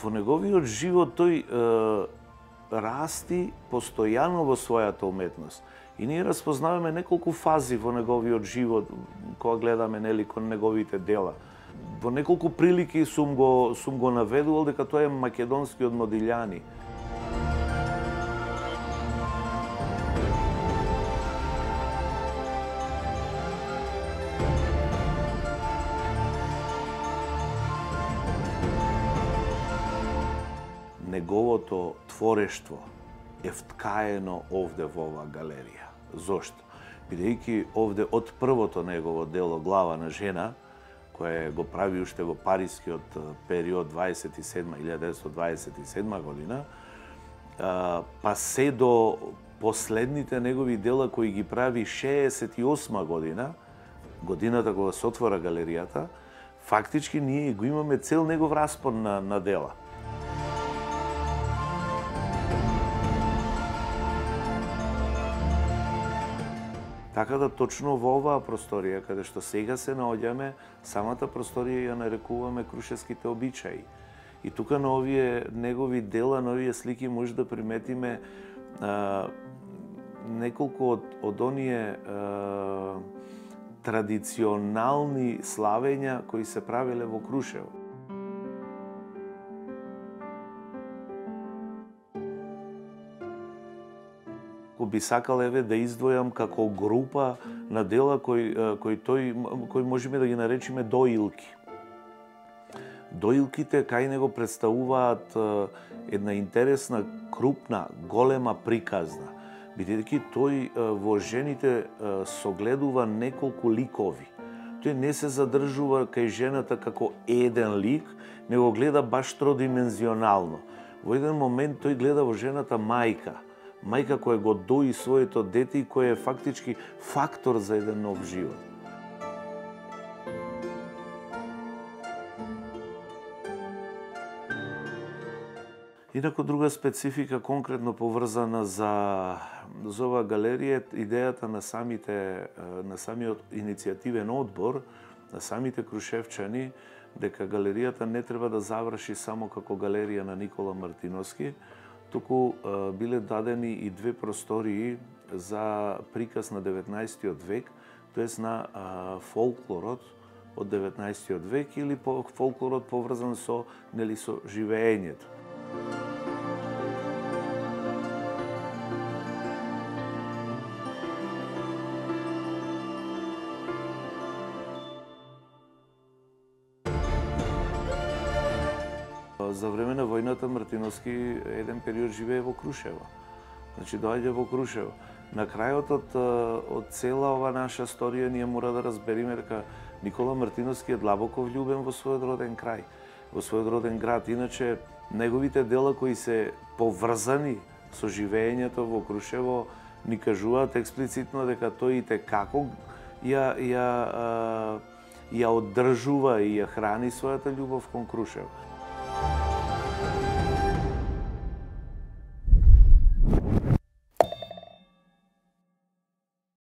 Во неговиот живот тој расти постојано во својата уметност. И ние распознаваме неколку фази во неговиот живот кога гледаме нели кон неговите дела. Во неколку прилики сум го наведувал дека тоа е македонскиот Модилјани. Неговото творештво е вткаено овде во оваа галерија. Зошто? Бидејќи овде од првото негово дело Глава на жена, кое го прави уште во парискиот период 1927 година, па се до последните негови дела кои ги прави 68 година, годината кога се отвора галеријата, фактички ние го имаме цел негов распон на дела. Така да точно во оваа просторија, каде што сега се наоѓаме, самата просторија ја нарекуваме Крушевските обичаи. И тука на овие негови дела, на овие слики може да приметиме неколку од оние традиционални славења кои се правеле во Крушево. Би сакал еве да издвојам како група на дела кои можеме да ги наречеме доилки. Доилките кај него представуваат една интересна, крупна, голема приказна, бидејќи тој во жените согледува неколку ликови. Тој не се задржува кај жената како еден лик, него гледа баш тродимензионално. Во еден момент тој гледа во жената мајка која го дои своето дете и која е фактички фактор за еден нов живот. Инаку друга специфика конкретно поврзана за оваа галерија, идејата на самиот иницијативен одбор, на самите крушевчани, дека галеријата не треба да заврши само како галерија на Никола Мартиновски, туку биле дадени и две простории за приказ на 19 век, тоест на фолклорот од 19 век или фолклорот поврзан со живеењето. За време на војната Мартиновски еден период живее во Крушево. Значи доаѓа во Крушево. На крајот од цела ова наша историја ние мора да разбериме дека Никола Мартиновски е длабоко влюбен во својот роден крај, во својот роден град. Иначе неговите дела кои се поврзани со живеењето во Крушево ни кажуваат експлицитно дека тој и те како ја оддржува и ја храни својата љубов кон Крушево.